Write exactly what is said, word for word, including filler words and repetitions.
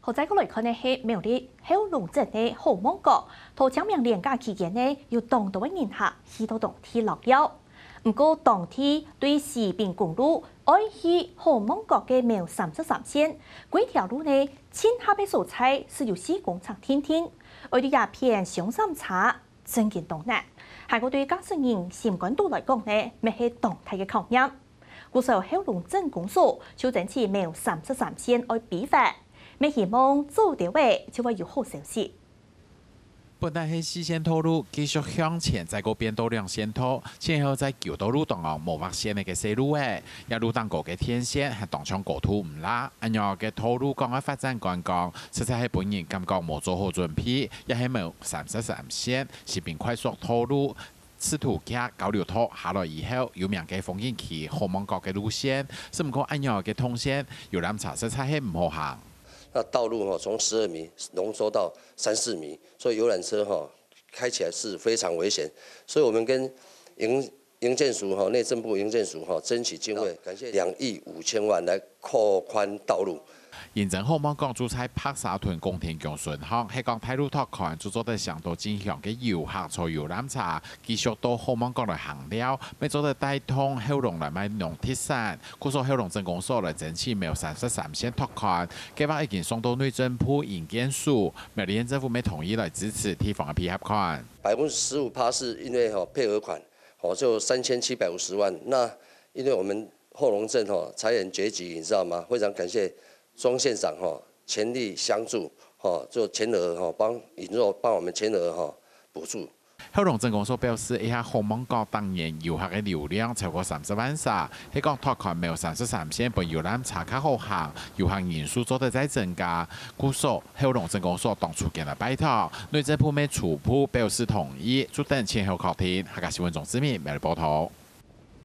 好，再過來看个係苗栗後龍鎮个好望角，在清明連假期間呢，有當多个人客去到當地尞尞。毋過，當地對西濱公路愛去好望角个苗三十三線，該條路呢，盡狹个所在，係有四公尺定定，愛對這片上山車，真經當難。還過對駕駛人心肝肚來講呢，乜係當大个考驗。 故所後龍鎮公所就爭取苗三十三線愛批發，乜希望早兜仔就會有好消息。本來係四線道路，繼續向前，再過變到兩線道，前後在舊道路當中無畫線个細路仔，這路頂高个電線還當像高度毋罅。恁樣个道路講愛發展觀光，實在係分人感覺無做好準備，也係苗三十三線，西濱快速道路 試圖行交流道下來以後，有名个風景區好望角个路線，只毋過恁樣个動線，遊覽車實在係毋好行。那道路哈，從十二米濃縮到三四米，所以遊覽車哈，開起來是非常危險。所以我們跟營，營建署哈，內政部營建署哈，爭取經費，感謝兩億五千萬來擴寬道路。 認真好望角就在白沙屯廣田宮脣項，係講大路拓寬就做得嚐到進香个遊客坐遊覽車，繼續到好望角來行尞，乜做得帶動後龍來買農特產。故所後龍鎮公所來爭取苗三十三線拓寬，計畫已經送到內政部營建署，苗栗縣政府乜同意來支持地方个配合款。百分之十五趴是因為哈配合款，哦，就三千七百五十萬。那因為我們後龍鎮哈財源拮据，你知道嗎？非常感謝莊縣長哈全力相助哈，就全額哈幫引入幫我們全額哈補助。後龍鎮公所表示，這下好望角逐年遊客个流量超過三十萬儕，係講拓寬苗三十三線分遊覽車較好行，遊客人數做得再增加。故所後龍鎮公所當初間來拜託，內政部乜初步表示同意，就等前後確定。客家新聞鍾志明，苗栗報導。